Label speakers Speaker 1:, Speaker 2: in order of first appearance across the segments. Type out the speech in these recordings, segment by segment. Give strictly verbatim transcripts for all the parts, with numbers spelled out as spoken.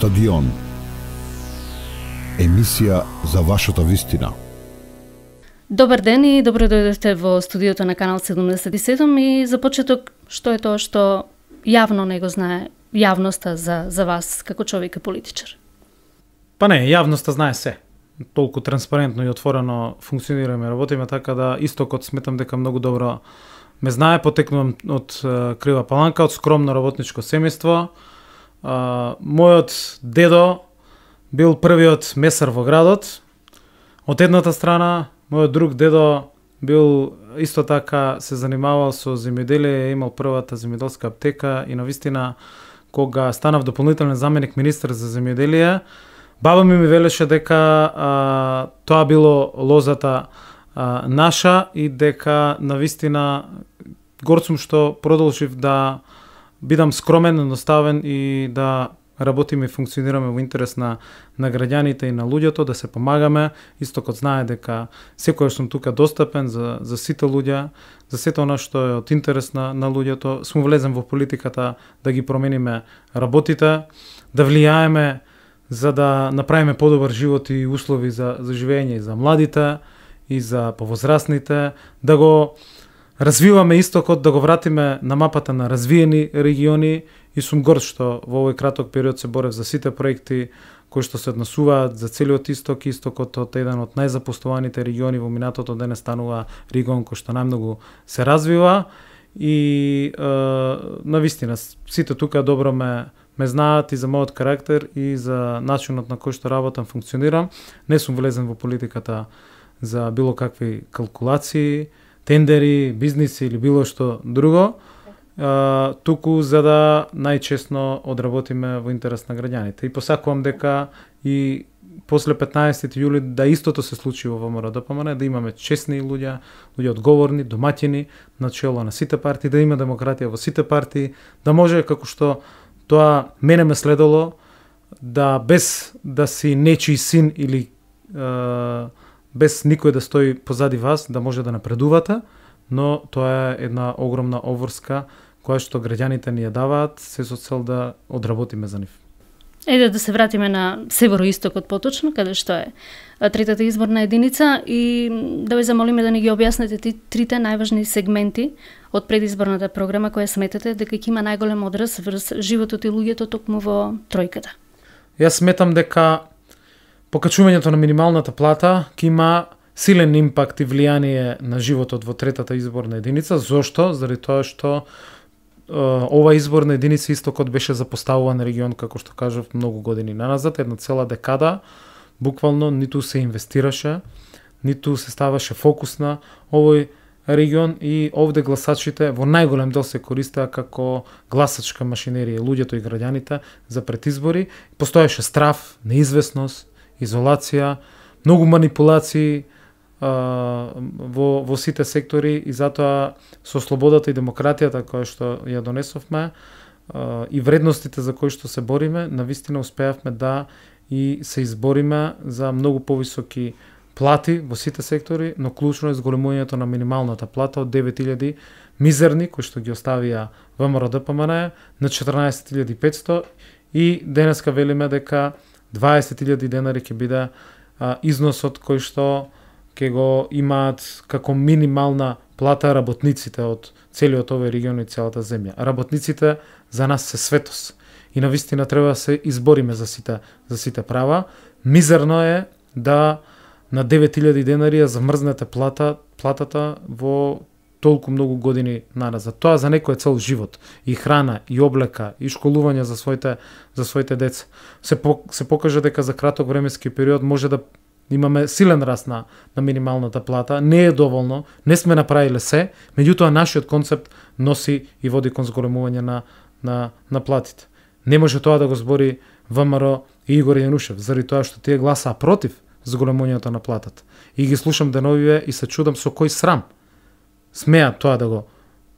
Speaker 1: Стадион. Емисија за вашата вистина.
Speaker 2: Добар ден и добро дојдовте во студиото на Канал седумдесет и седум и за почеток, што е тоа што јавно не го знае јавноста за, за вас како човек и политичар?
Speaker 3: Па не, јавноста знае се. Толку транспарентно и отворено функционираме, работиме, така да истокот сметам дека многу добро ме знае. Потекнувам од Крива Паланка, од скромно работничко семејство. Uh, мојот дедо бил првиот месар во градот. Од едната страна, мојот друг дедо бил исто така се занимавал со земјоделие, имал првата земјоделска аптека и навистина кога станав дополнителен заменик министер за земјоделие, баба ми ми велеше дека а, тоа било лозата а, наша и дека навистина горд сум што продолжив да бидам скромен, едноставен и да работиме и функционираме во интерес на, на граѓаните и на луѓето, да се помагаме. Истокот знае дека секојаш сум тука достапен за, за сите луѓе, за сето она што е од интерес на, на луѓето. Сум влезен во политиката да ги промениме работите, да влијаеме за да направиме подобар живот и услови за, за живење и за младите, и за повозрастните, да го развиваме истокот, да го вратиме на мапата на развиени региони и сум горд што во овој краток период се борев за сите проекти кои што се однесуваат за целиот исток. Истокот од еден од најзапоставаните региони во минатото денес станува регион кој што најмногу се развива и е, навистина сите тука добро ме ме знаат и за мојот карактер и за начинот на кој што работам, функционирам. Не сум влезен во политиката за било какви калкулации, тендери, бизниси или било што друго, а, туку за да најчесно одработиме во интерес на граѓаните. И посакувам дека и после петнаесети јули да истото се случи во ВМРО-ДПМН, да имаме честни луѓе, луѓе одговорни, домаќини, на чело на сите партии, да има демократија во сите партии, да може како што тоа мене ме следало, да без да си нечи син или е, без никој да стои позади вас, да може да напредувате, но тоа е една огромна обврска која што граѓаните ни ја даваат, се со цел да одработиме за нив.
Speaker 2: Еде да се вратиме на североистокот поточно, каде што е третата изборна единица и да ве замолиме да ни ги објаснете ти трите најважни сегменти од предизборната програма која сметате дека ќе има најголем одраз врз животот и луѓето токму во тројката.
Speaker 3: Јас сметам дека покачувањето на минималната плата ќе има силен импакт и влијание на животот во третата изборна единица. Зошто? Заради тоа што е, ова изборна единица истокот беше запоставуван регион, како што кажав, многу години наназад, една цела декада, буквално ниту се инвестираше, ниту се ставаше фокус на овој регион и овде гласачите во најголем дел се користеа како гласачка машинерија, луѓето и граѓаните за предизбори. Постоеше страв, неизвестност, изолација, многу манипулации а, во, во сите сектори и затоа со слободата и демократијата која што ја донесовме а, и вредностите за кои што се бориме, навистина успеавме да и се избориме за многу повисоки плати во сите сектори, но клучно е зголемувањето на минималната плата од девет илјади мизерни кои што ги оставија ВМРО-ДПМН на четрнаесет илјади и петсто и денеска велиме дека дваесет илјади денари ќе биде а, износот кој што ќе го имаат како минимална плата работниците од целиот овој регион и целата земја. Работниците за нас се светост и навистина треба да се избориме за сите за сите права. Мизерно е да на девет илјади денари ја замрзнете плата платата во толку многу години наназад. Тоа за некој е цел живот, и храна, и облека, и школување за своите за своите деца. Се по, се покажа дека за краток временски период може да имаме силен раст на, на минималната плата. Не е доволно, не сме направиле се, меѓутоа нашиот концепт носи и води кон зголемување на на на платите. Не може тоа да го збори ВМРО и Игор Јанушев, заради тоа што тие гласаа против зголемувањето на платата. И ги слушам деновиве и се чудам со кој срам смеат тоа да го,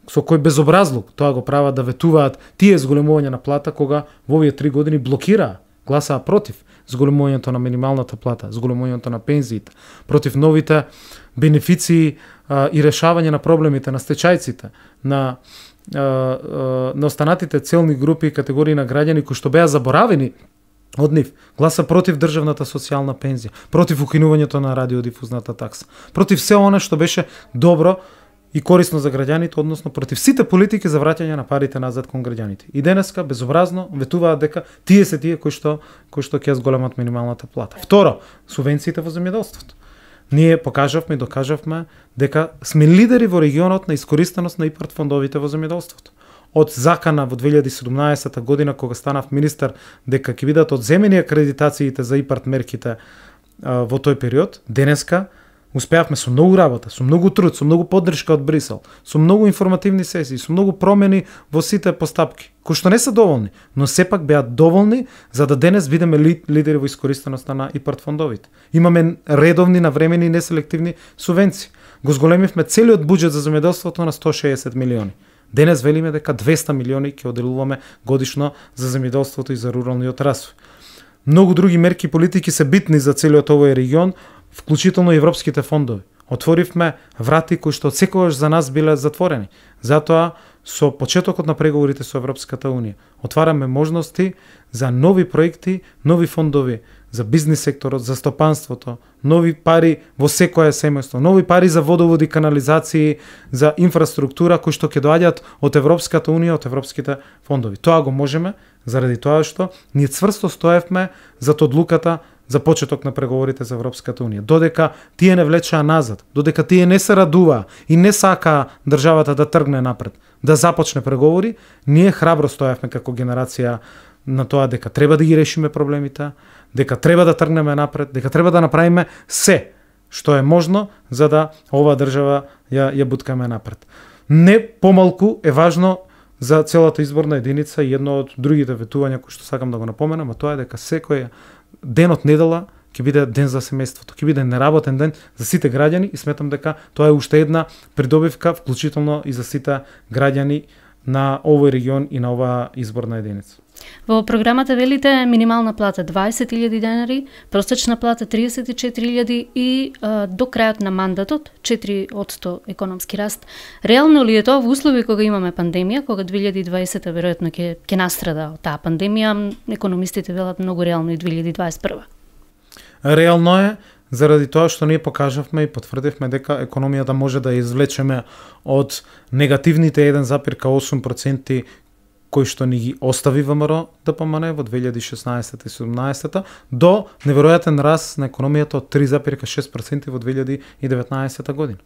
Speaker 3: со кој безобразлук тоа го прават, да ветуваат тие зголемување на плата кога во овие три години блокираа, гласаа против зголемувањето на минималната плата, зголемувањето на пензиите, против новите бенефиции а, и решавање на проблемите на стечајците, на а, а, на останатите целни групи и категории на граѓани кои што беа заборавени од нив. Гласа против државната социјална пензија, против укинувањето на радиодифузната такса, против се она што беше добро и корисно за граѓаните, односно против сите политики за враќање на парите назад кон граѓаните. И денеска безобразно ветуваат дека тие се тие кои што кои што ќе зголемат минималната плата. Второ, субвенциите во земјоделството. Ние покажавме и докажавме дека сме лидери во регионот на искористеност на ИПАРД фондовите во земјоделството. Од закана во две илјади и седумнаесета година, кога станав министер, дека ќе бидат одземени акредитациите за ИПАРД мерките а, во тој период, денеска успеавме со многу работа, со многу труд, со многу поддршка од Брисел, со многу информативни сесии, со многу промени во сите постапки, кои што не се доволни, но сепак беа доволни за да денес бидеме ли, лидери во искористеноста на ИПАРД фондовите. Имаме редовни, навремени и неселективни субвенции. Го зголемивме целиот буџет за земјоделството на сто и шеесет милиони. Денес велиме дека двесте милиони ќе оделуваме годишно за земјоделството и за руралниот развој. Многу други мерки и политики се битни за целиот овој регион, вклучително и европските фондови. Отворивме врати кои што секогаш за нас биле затворени. Затоа со почетокот на преговорите со Европската Унија отвараме можности за нови проекти, нови фондови за бизнис секторот, за стопанството, нови пари во секое семејство, нови пари за водоводи, канализации, за инфраструктура кои што ќе доаѓаат од Европската Унија, од европските фондови. Тоа го можеме заради тоа што ние цврсто стоевме зад одлуката за почеток на преговорите за Европската Унија. Додека тие не влечаа назад, додека тие не се радуваа и не сакаа државата да тргне напред, да започне преговори, ние храбро стоевме како генерација на тоа дека треба да ги решиме проблемите, дека треба да тргнеме напред, дека треба да направиме се што е можно за да оваа држава ја ја буткаме напред. Не помалку е важно за целата изборна единица и едно од другите ветувања кои што сакам да го напоменам, а тоа е дека секој денот недела ќе биде ден за семејството, ќе биде неработен ден за сите граѓани и сметам дека тоа е уште една придобивка, вклучително и за сите граѓани на овој регион и на оваа изборна единица.
Speaker 2: Во програмата велите минимална плата дваесет илјади денари, просечна плата триесет и четири илјади и а, до крајот на мандатот четири одсто економски раст. Реално ли е тоа во услови кога имаме пандемија, кога две илјади и дваесета веројатно ќе ќе настрада од таа пандемија, економистите велат многу реално и две илјади дваесет и прва.
Speaker 3: Реално е заради тоа што ние покажавме и потврдивме дека економијата може да ја извлечеме од негативните еден запир осум проценти кои што ни ги остави ВМРО Д П М Н во две илјади и шеснаесета и седумнаесета до неверојатен раст на економијата од три запир шест проценти во две илјади и деветнаесета година.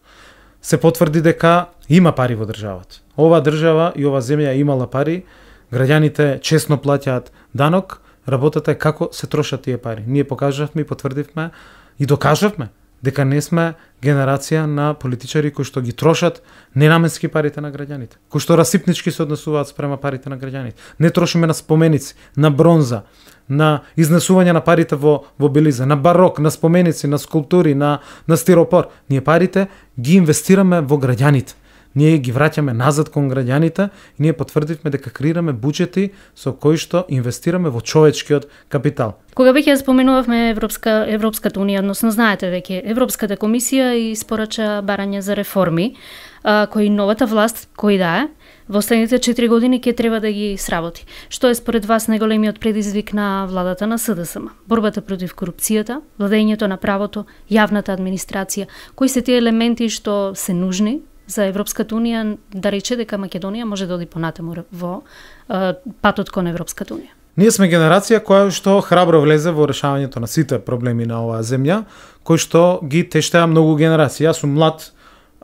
Speaker 3: Се потврди дека има пари во државата. Ова држава и ова земја имала пари, граѓаните честно плаќаат данок, работата е како се трошат тие пари. Ние покажавме и потврдивме и докажавме дека не сме генерација на политичари кои што ги трошат ненаменски парите на граѓаните, кои што расипнички се однесуваат спрема парите на граѓаните. Не трошиме на споменици, на бронза, на изнесување на парите во во белиза, на барок, на споменици, на скулптури, на на стиропор. Ние парите ги инвестираме во граѓаните. Ние ги враќаме назад кон граѓаните и ние потврдивме дека креираме буџети со кои што инвестираме во човечкиот капитал.
Speaker 2: Кога веќе споменувавме Европска Европската Унија, односно знаете веќе Европската комисија испорача барање за реформи, а, кои новата власт, кој да е, во следните четири години ќе треба да ги сработи. Што е според вас најголемиот предизвик на владата на С Д С М? Борбата против корупцијата, владењето на правото, јавната администрација, кои се тие елементи што се нужни за Европската Унија да рече дека Македонија може да оди понатаму во е, патот кон Европската Унија?
Speaker 3: Ние сме генерација која што храбро влезе во решавањето на сите проблеми на оваа земја, кои што ги тештеа многу генерации. Јас сум млад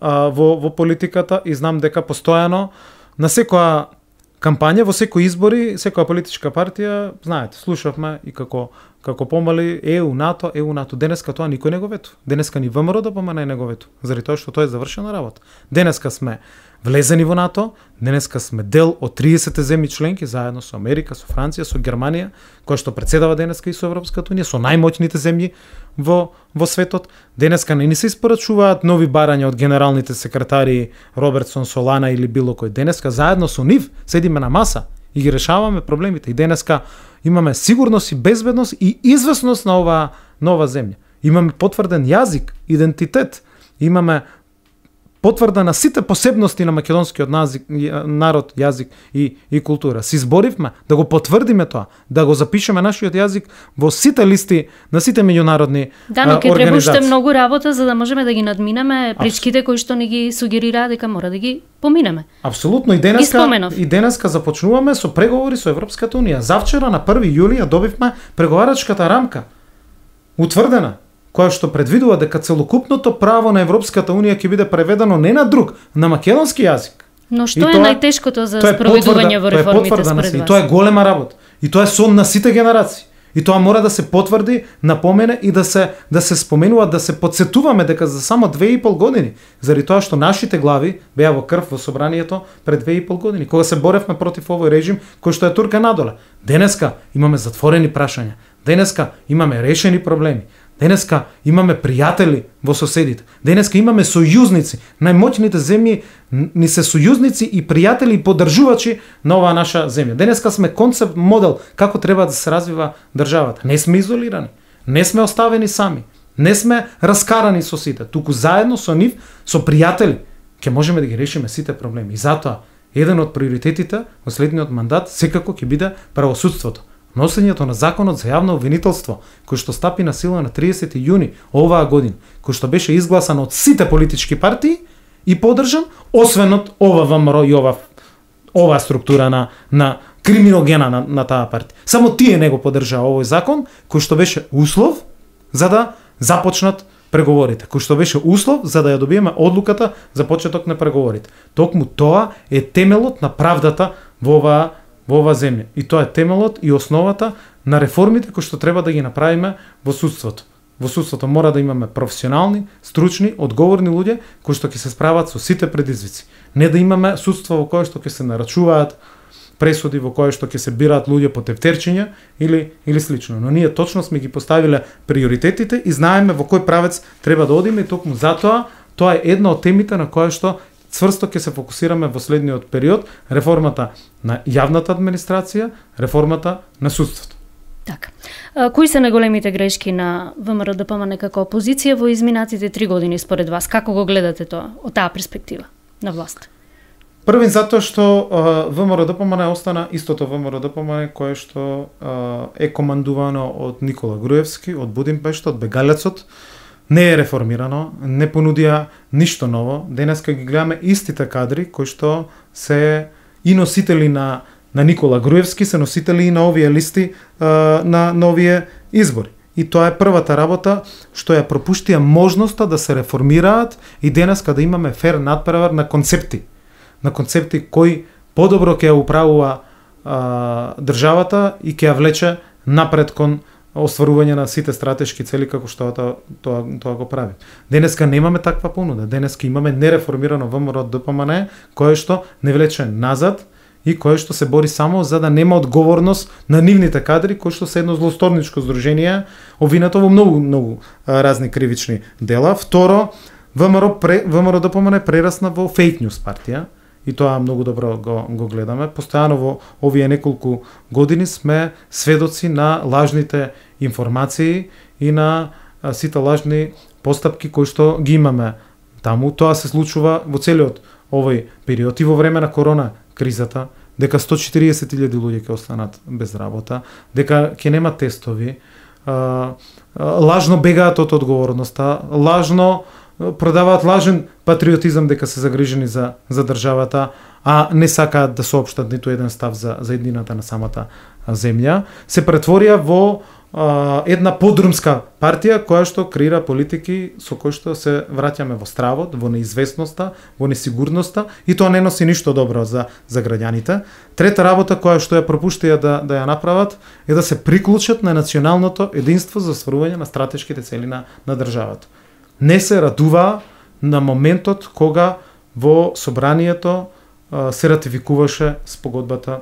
Speaker 3: а, во, во политиката и знам дека постојано на секоја кампања, во секои избори, секоја политичка партија, знаете, слушавме и како како помали Е У, НАТО, Е У, НАТО. Денеска тоа никој не го ветува. Денеска ни ВМРО Д П М Н не го ветува, заради тоа што тоа е завршена работа. Денеска сме влезени во НАТО, денеска сме дел од триесет земји членки заедно со Америка, со Франција, со Германија, која што председава денеска и со Европската Унија, со најмоćните земји во во светот. Денеска не ни се испорачуваат нови барања од генералните секретари Робертсон, Солана или било кој. Денеска заедно со нив седиме на маса и ги решаваме проблемите. И денеска имаме сигурност и безбедност и известност на оваа нова земја. Имаме потврден јазик, идентитет, имаме потврда на сите посебности на македонскиот назик, народ, јазик и, и култура. Се изборивме да го потврдиме тоа, да го запишеме нашиот јазик во сите листи на сите меѓународни
Speaker 2: Да, но
Speaker 3: а,
Speaker 2: ке треба уште
Speaker 3: организации.
Speaker 2: многу работа за да можеме да ги надминеме пречките кои што ни ги сугерираат дека мора да ги поминеме.
Speaker 3: Апсолутно, и
Speaker 2: Ги
Speaker 3: денеска
Speaker 2: споменав.
Speaker 3: и денеска започнуваме со преговори со Европската унија. Завчера на први јули ја добивме преговарачката рамка утврдена, која што предвидува дека целокупното право на Европската унија ќе биде преведено не на друг, на македонски јазик.
Speaker 2: Но
Speaker 3: И
Speaker 2: што е
Speaker 3: тоа-
Speaker 2: најтешкото за
Speaker 3: Тоа е
Speaker 2: спроведување во
Speaker 3: потврда- тоа е
Speaker 2: реформите
Speaker 3: потврда на
Speaker 2: според
Speaker 3: се,
Speaker 2: вас?
Speaker 3: И тоа е голема работа. И тоа е сон на сите генерации. И тоа мора да се потврди, напомене и да се да се споменува, да се подсетуваме дека за само две и пол години, заради тоа што нашите глави беа во крв во собранието пред две и пол години, кога се боревме против овој режим кој што е турка надоле. Денеска имаме затворени прашања. Денеска имаме решени проблеми. Денеска имаме пријатели во соседите. Денеска имаме сојузници. Најмоќните земји ни се сојузници и пријатели и поддржувачи на оваа наша земја. Денеска сме концепт модел како треба да се развива државата. Не сме изолирани. Не сме оставени сами. Не сме раскарани со сите. Туку заедно со нив, со пријатели, ќе можеме да ги решиме сите проблеми. И затоа еден од приоритетите во следниот мандат секако ќе биде правосудството. Носењето на законот за јавно обвинителство, кој што стапи на сила на триесети јуни оваа година, кој што беше изгласан од сите политички партии и поддржан, освен од ова ВМРО и ова оваа структура на на криминогена на, на таа партија. Само тие не го поддржаа овој закон, кој што беше услов за да започнат преговорите, кој што беше услов за да ја добиеме одлуката за почеток на преговорите. Токму тоа е темелот на правдата во оваа во оваа земја. И тоа е темелот и основата на реформите кои што треба да ги направиме во судството. Во судството мора да имаме професионални, стручни, одговорни луѓе кои што ќе се справат со сите предизвици. Не да имаме судство во кое што ќе се нарачуваат пресуди, во кое што ќе се бираат луѓе по тефтерчиња или или слично. Но ние точно сме ги поставиле приоритетите и знаеме во кој правец треба да одиме и токму затоа тоа е една од темите на која што цврсто ќе се фокусираме во следниот период, реформата на јавната администрација, реформата на судството.
Speaker 2: Така. А, кои се најголемите грешки на ВМРО-ДПМН како опозиција во изминатите три години според вас? Како го гледате тоа од таа перспектива на власт?
Speaker 3: Првин затоа што ВМРО-ДПМН остана истото ВМРО-ДПМН кое што а, е командувано од Никола Груевски, од Будимпешта, од Бегалецот, не е реформирано, не понудија ништо ново. Денеска ги гледаме истите кадри кои што се и носители на на Никола Груевски, се носители и на овие листи а, на на овие избори. И тоа е првата работа што ја пропуштија можноста да се реформираат и денеска да имаме фер надпревар на концепти. На концепти кои подобро ќе ја управува а, државата и ќе ја влече напред кон остварување на сите стратешки цели како што тоа, тоа, тоа го прави. Денеска немаме таква понуда. Денеска имаме нереформирано ВМРО-ДПМН кое што не влече назад и кое што се бори само за да нема одговорност на нивните кадри кои што се едно злосторничко здружение обвинато во многу многу а, разни кривични дела. Второ, ВМРО ВМРО-ДПМН прерасна во фейк ньюс партија. И тоа многу добро го, го гледаме. Постојано во овие неколку години сме сведоци на лажните информации и на а, сите лажни постапки кои што ги имаме таму. Тоа се случува во целиот овој период и во време на корона кризата, дека сто и четириесет илјади луѓе ќе останат без работа, дека ќе нема тестови, а, а, лажно бегаат од одговорноста, лажно продаваат лажен патриотизам дека се загрижени за за државата, а не сакаат да соопштат ниту еден став за за еднината на самата земја, се претворија во а, една подрумска партија која што креира политики со кои што се враќаме во стравот, во неизвестноста, во несигурноста и тоа не носи ништо добро за за граѓаните. Трета работа која што ја пропуштија да да ја направат е да се приклучат на националното единство за остварување на стратешките цели на на државата. Не се радува на моментот кога во собранието а, се ратификуваше спогодбата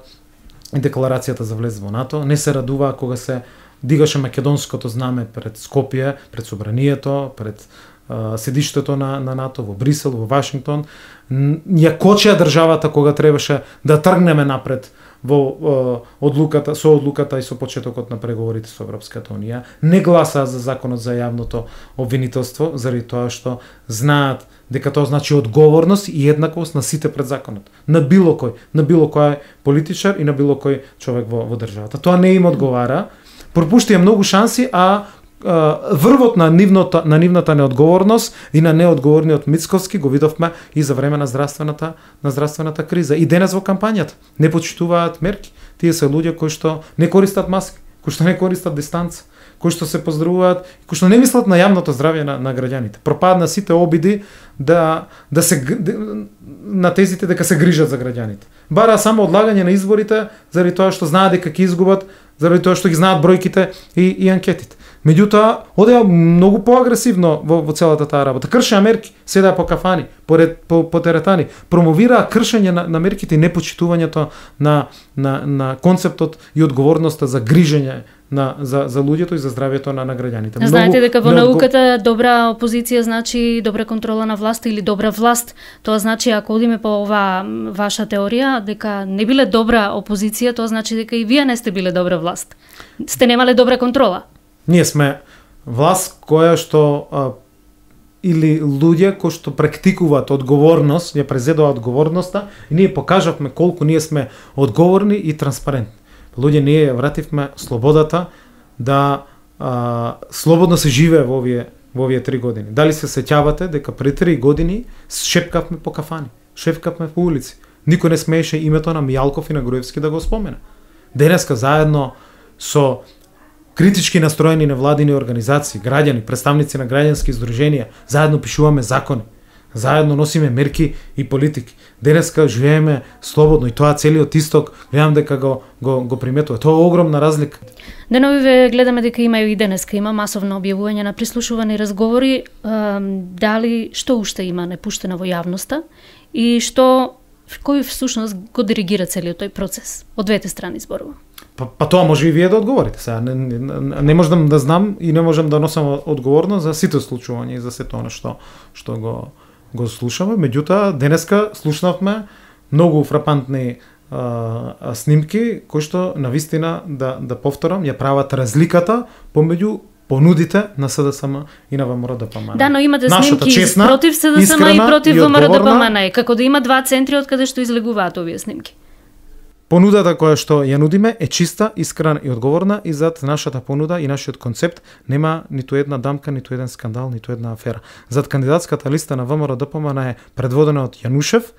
Speaker 3: и декларацијата за влез во НАТО, не се радува кога се дигаше македонското знаме пред Скопје, пред собранието, пред а, седиштето на, на НАТО во Брисел, во Вашингтон. Ја кочеа државата кога требаше да тргнеме напред во одлуката, со одлуката и со почетокот на преговорите со Европската унија, не гласаа за законот за јавното обвинителство, заради тоа што знаат дека тоа значи одговорност и еднаквост на сите пред законот, на било кој, на било кој политичар и на било кој човек во, во државата. Тоа не им одговара, пропуштија многу шанси, а врвот на нивната на нивната неодговорност и на неодговорниот Мицковски го видовме и за време на здравствената на здравствената криза. И денес во кампањата не почитуваат мерки. Тие се луѓе кои што не користат маски, кои што не користат дистанца, кои што се поздравуваат, кои што не мислат на јавното здравје на, на граѓаните. Пропадна сите обиди да да се на тезите дека се грижат за граѓаните. Бара само одлагање на изборите заради тоа што знаат дека ќе изгубат, заради тоа што ги знаат бројките и, и анкетите. Меѓутоа, одеа многу поагресивно во, во целата таа работа. Кршеа мерки, седеа по кафани, по, по, по теретани, промовираа кршење на, на мерките и непочитувањето на, на, на концептот и одговорноста за грижење на, за, за луѓето и за здравјето на, на граѓаните.
Speaker 2: Знаете дека во науката добра опозиција значи добра контрола на власт или добра власт. Тоа значи, ако одиме по оваа ваша теорија, дека не биле добра опозиција, тоа значи дека и вие не сте биле добра власт. Сте немале добра контрола.
Speaker 3: Ние сме власт која што а, или луѓе кои што практикуваат одговорност, ја презедува одговорноста и ние покажавме колку ние сме одговорни и транспарентни. Луѓе ние ја вративме слободата да а, слободно се живее во овие во овие три години. Дали се сеќавате дека пред три години шепкавме по кафани, шепкавме по улици. Никој не смееше името на Мијалков и на Груевски да го спомена. Денеска заедно со критички настроени невладини организации, граѓани, представници на граѓански здруженија, заедно пишуваме закони, заедно носиме мерки и политики. Денеска живееме слободно и тоа целиот исток, гледам дека го, го, го приметува. Тоа е огромна разлика.
Speaker 2: Деновиве гледаме дека има и денеска има масовно објавување на прислушувани разговори, дали што уште има непуштено во јавноста и што кој всушност го диригира целиот тој процес од двете страни зборува.
Speaker 3: Па, па тоа може и вие да одговорите. Сега не, не, не можам да знам и не можам да носам одговорност за сите случувања и за сето она што што го го слушаме. Меѓутоа денеска слушнавме многу фрапантни а, снимки кои што навистина да да повторам ја прават разликата помеѓу понудите на СДСМ и на ВМРО-ДПМН.
Speaker 2: Да, но имате снимки честна, против СДСМ и против ВМРО-ДПМН. Како да има два центри од каде што излегуваат овие снимки.
Speaker 3: Понудата која што ја нудиме е чиста, искрена и одговорна и зад нашата понуда и нашиот концепт нема ниту една дамка, ниту еден скандал, ниту една афера. Зад кандидатската листа на ВМРО-ДПМН е предводена од Јанушев,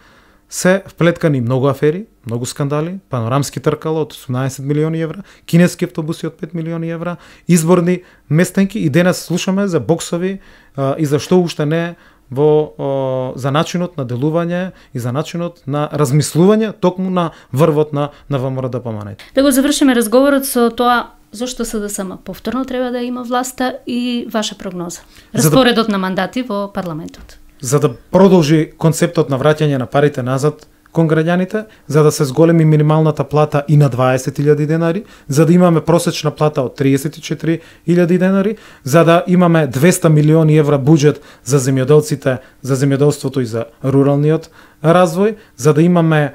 Speaker 3: се вплеткани многу афери, многу скандали, панорамски тркала од осумнаесет милиони евра, кинески автобуси од пет милиони евра, изборни местенки и денес слушаме за боксови а, и за што уште не во о, за начинот на делување и за начинот на размислување токму на врвот на на ВМРО-ДПМН.
Speaker 2: Да го завршиме разговорот со тоа зошто СДСМ повторно треба да има власта и ваша прогноза. Распоредот да, на мандати во парламентот.
Speaker 3: За да продолжи концептот на враќање на парите назад кон граѓаните, за да се зголеми минималната плата и на дваесет илјади денари, за да имаме просечна плата од триесет и четири илјади денари, за да имаме двесте милиони евра буџет за земјоделците, за земјоделството и за руралниот развој, за да имаме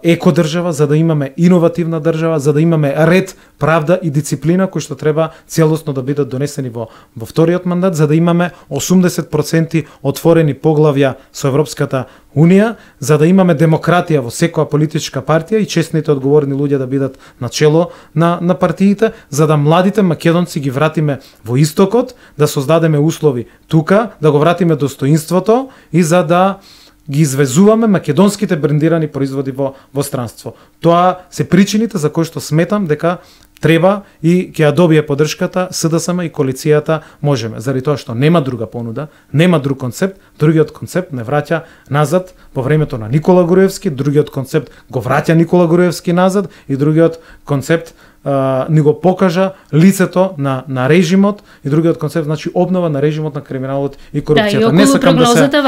Speaker 3: екодржава, за да имаме иновативна држава, за да имаме ред, правда и дисциплина кои што треба целосно да бидат донесени во во вториот мандат, за да имаме осумдесет проценти отворени поглавја со Европската Унија, за да имаме демократија во секоја политичка партија и честните одговорни луѓе да бидат на чело на на партиите, за да младите македонци ги вратиме во истокот, да создадеме услови тука, да го вратиме достоинството и за да ги извезуваме македонските брендирани производи во во странство. Тоа се причините за кои што сметам дека треба и ќе ја добие поддршката СДСМ и коалицијата Можеме, заради тоа што нема друга понуда, нема друг концепт, другиот концепт не враќа назад во времето на Никола Груевски, другиот концепт го враќа Никола Груевски назад и другиот концепт Uh, ни го покажа лицето на на режимот и другиот концепт значи обнова на режимот на криминалот и корупцијата.
Speaker 2: Да, и
Speaker 3: не сакам да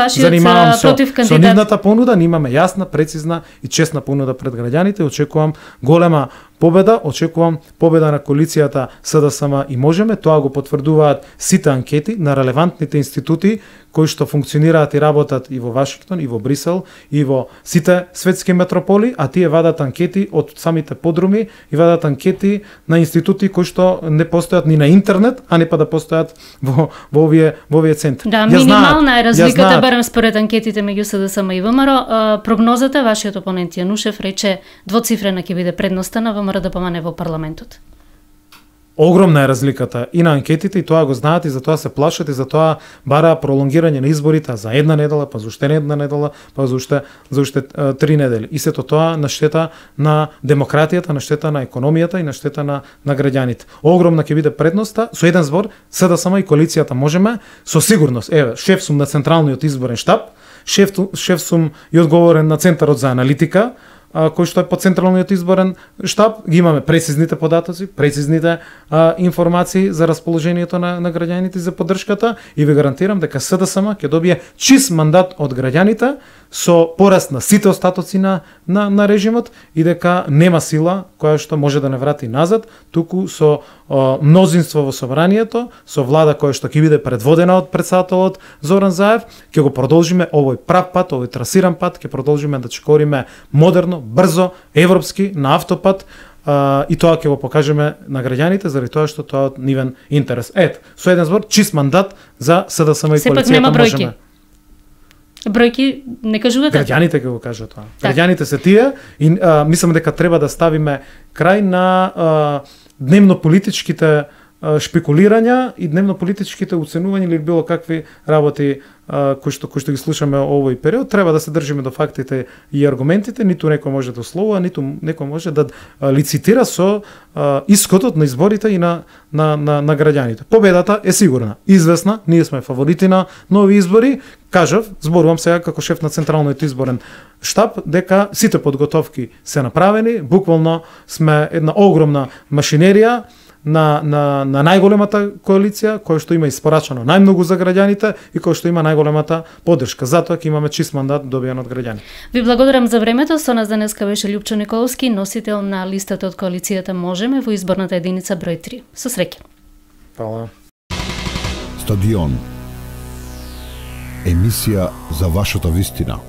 Speaker 3: се занимавам со,
Speaker 2: кандидат...
Speaker 3: со нивната понуда, имаме јасна, прецизна и честна понуда пред граѓаните. Очекувам голема победа, очекувам победа на коалицијата СДСМ и Можеме. Тоа го потврдуваат сите анкети на релевантните институти кои што функционираат и работат и во Вашингтон, и во Брисел, и во сите светски метрополи, а тие вадат анкети од самите подруми и вадат анкети на институти кои што не постојат ни на интернет, а не па да постојат во во овие во овие центри.
Speaker 2: Да,
Speaker 3: ја
Speaker 2: минимална
Speaker 3: знаат,
Speaker 2: е разликата
Speaker 3: знаат.
Speaker 2: барем според анкетите меѓу СДСМ и ВМРО. Прогнозата вашиот опонент Јанушев рече двоцифрена ќе биде предноста на ВМРО да помане во парламентот.
Speaker 3: Огромна е разликата и на анкетите, и тоа го знаат, и затоа се плашат, и затоа бараа пролонгирање на изборите за една недела, па за уште една недела, па за уште за уште три недели. И сето тоа на штета на демократијата, на штета на економијата и на штета на на граѓаните. Огромна ќе биде предноста, со еден збор, СДСМ и коалицијата можеме, со сигурност. Еве, шеф сум на Централниот изборен штаб, шеф шеф сум и одговорен на Центарот за аналитика, кој што е по Централниот изборен штаб, ги имаме прецизните податоци, прецизните а, информации за расположението на, на граѓаните за поддршката, и ви гарантирам дека СДСМ ќе добие чист мандат од граѓаните со пораст на сите остатоци на, на, на режимот, и дека нема сила која што може да не врати назад, туку со а, мнозинство во собранието, со влада која што ќе биде предводена од претседателот Зоран Заев, ќе го продолжиме овој прав пат, овој трасиран пат, ќе продолжиме да чекориме модерно, брзо, европски, на автопат, а, и тоа ќе го покажеме на граѓаните заради тоа што тоа е од нивен интерес. Ет, со еден збор, чист мандат за СДСМ и коалицијата.
Speaker 2: Сепак нема бројки. Бројки не кажувате?
Speaker 3: Граѓаните ќе го кажат тоа.
Speaker 2: Так.
Speaker 3: Граѓаните се тие, и а, мислам дека треба да ставиме крај на а, дневно политичките шпекулирања и дневно политичките уценувања или било какви работи а, кои што кои што ги слушаме овој период. Треба да се држиме до фактите и аргументите, ниту некој може да условува, ниту некој може да а, лицитира со а, исходот на изборите и на на на, на граѓаните. Победата е сигурна, известна, ние сме фаворити на нови избори. Кажав, зборувам сега како шеф на Централниот изборен штаб, дека сите подготовки се направени, буквално сме една огромна машинерија на, на, на најголемата коалиција, која што има испорачано најмногу за граѓаните и која што има најголемата поддршка. Затоа ќе имаме чист мандат добиен од граѓани.
Speaker 2: Ви благодарам за времето. Со нас денеска беше Љупчо Николовски, носител на листата од коалицијата Можеме во изборната единица број три. Со среќа.
Speaker 3: Фала.
Speaker 1: Стадион. Емисија за вашата вистина.